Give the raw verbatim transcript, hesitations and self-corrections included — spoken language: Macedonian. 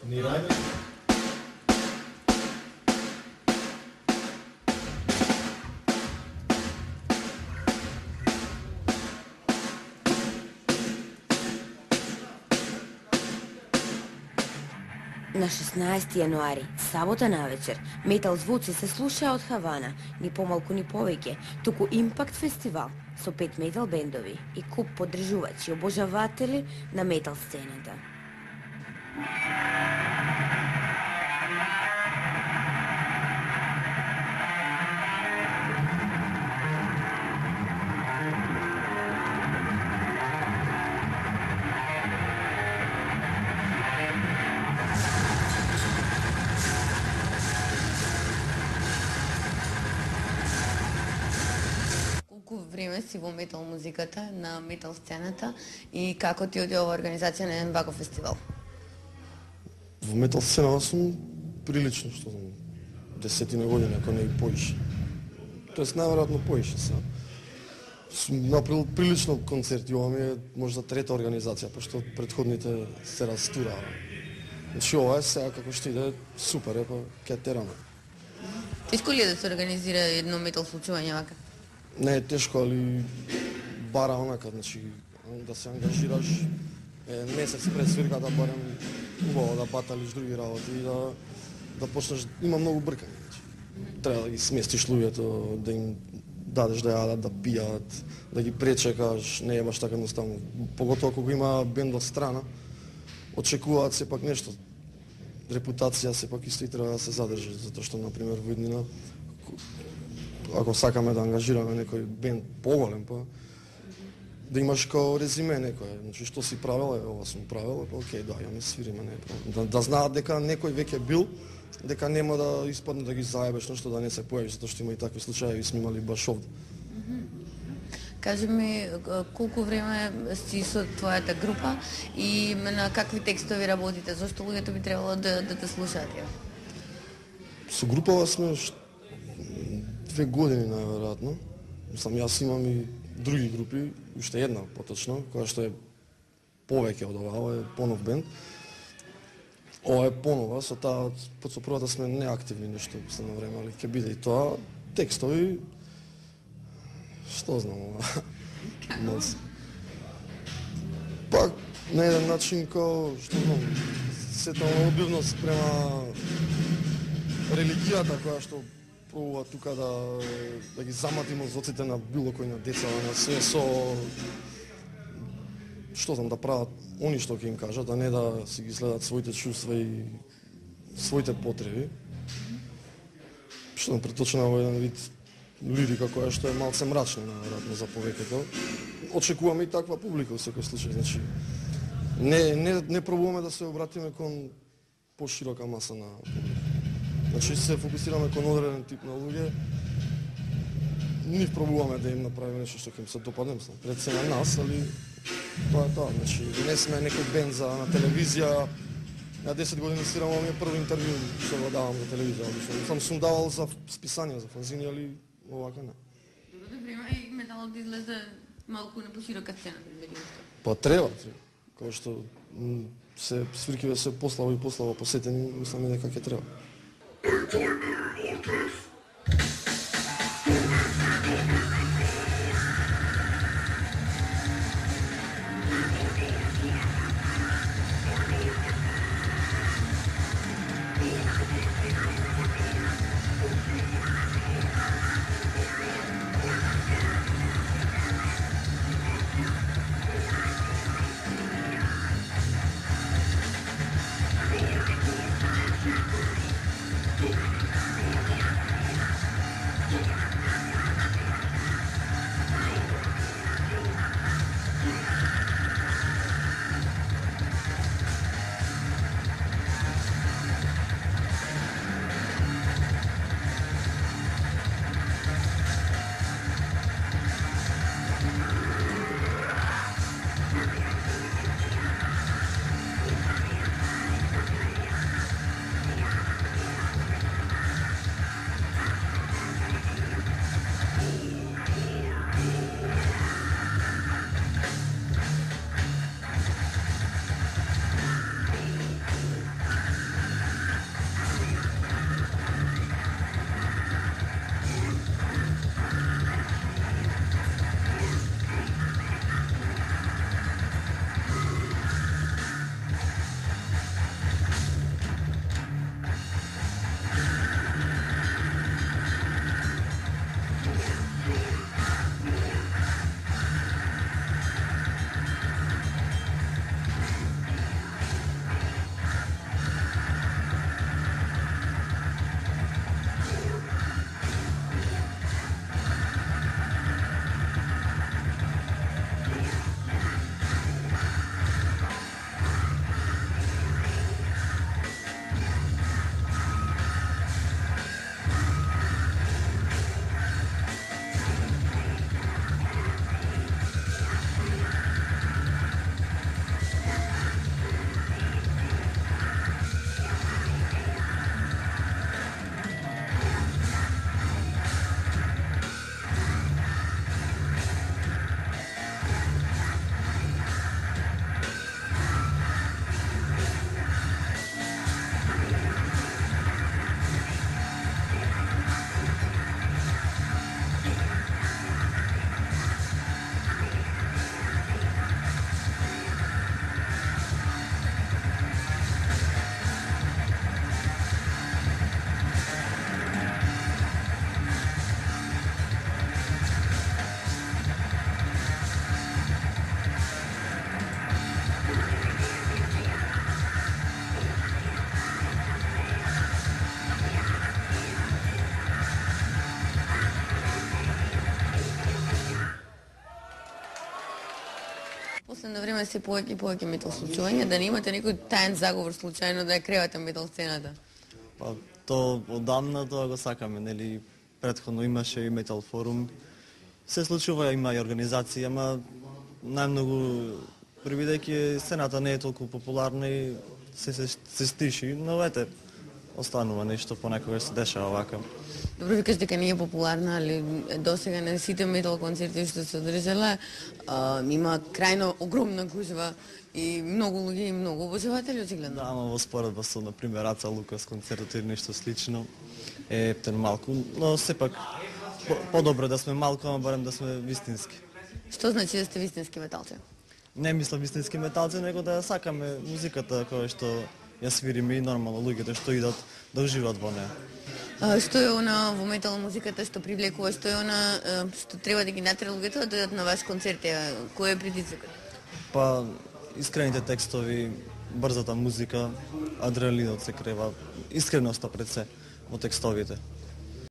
Ни рајде. На шеснаесети јануари, сабота навечер, метал звуци се слушаа од Хавана, ни помалку ни повеќе, туку Импакт фестивал со пет метал бендови и куп поддржувачи и обожаватели на метал сцената. Време си во метал музиката, на метал сцената и како ти оди ова организација на еден ваков фестивал? Во метал сцената сум прилично, што знам, десетина години, ако не и поише. Тоест, најверојатно поише са. Сум направил прилично концерти, ова ми е можда трета организација, пошто предходните се растураа. Значи, ова е сега како што иде, супер е, па ке тераме. Тешко ли е да се организира едно метал случување вака? Не е тешко, али бара онака, значи, да се ангажираш е, месец пред свирката, барем убаво да баталиш други работи и да, да почнеш, има многу бркање, значи. Треба да ги сместиш луѓето, да им дадеш да јадат, да пијат, да ги пречекаш, не е баш така едноставно. Поготоа кога има бенд од страна, очекуваат сепак нешто. Репутација сепак исто и треба да се задржи, затоа што, например, во иднина, ако сакаме да ангажираме некој бенд поголем, па да имаш као резиме некој, значи што си правел, е, ова сум правел, па окей, доаѓаме, свириме, не е да, да знаат дека некој веќе бил, дека нема да испадне да ги заебеш нешто, да не се појавиш, затоа што има и такви случаи, сме имали баш овде. Кажи ми, колку време си со твојата група и на какви текстови работите, зашто луѓето би требало да, да те слушаат ја? Со групава сме две години најверојатно. Сам јас имам и други групи, уште една поточно, која што е повеќе од ова, ова е понов бенд. Ова е понова, со таа, под со првата сме неактивни нешто се на време, али ќе биде и тоа. Текстови, што знам ова, пак на еден начин кој, што знам, сета обидност према религијата која што пробува тука да, да ги замати мозоците на било кој на деца, на се со што знам, да прават они што ќе им кажат, а не да си ги следат своите чувства и своите потреби. Што знам, преточена во еден вид лирика која што е малце мрачна, наверојатно, за повеќето. Очекуваме и таква публика во секој случај, значи не, не, не пробуваме да се обратиме кон поширока маса на публика. Значи се фокусираме кон одреден тип на луѓе. Нив пробуваме да им направиме нешто што ќе им се допадне, пред се на нас, али тоа е тоа. Значи не сме некој бенд за на телевизија. На десет години свирам, ова ми е први интервју што го давам за телевизија. Сам сум давал за списања, за фанзини, али овака не. Добро време и металот излезе малку на поширока сцена, дали што? Па треба, кога што се свиркиве се пославо и пославо посетени, мислам дека ќе треба. Последно време се повеќе и повеќе метал случувања, да не имате некој таен заговор случајно да ја кревате метал сцената? Па, то одамна тоа го сакаме, нели, претходно имаше и метал форум. Се случува, има и организации, ама најмногу, прибидејќи сцената не е толку популарна и се, се, се стиши, но ете, останува нешто, понекогаш се дешава вака. Добро, викаш дека не е популарна, али досега на сите метал концерти што се одржале, има крајно огромна гужва и многу луѓе и многу обожаватели очигледно. Да, ама во споредба со, например, Аца Лукас концертот или нешто слично е ептен малку, но сепак по, подобро да сме малку, ама барем да сме вистински. Што значи да сте вистински металци? Не мислам вистински металци, него да сакаме музиката која што ја свириме и нормално луѓето што идат да уживаат во неа. А, што е она во метал музиката што привлекува, што е она што треба да ги натера луѓето да дојдат на ваш концерт? Кој е притисокот? Па, искрените текстови, брзата музика, адреналинот се крева, искреноста пред се во текстовите.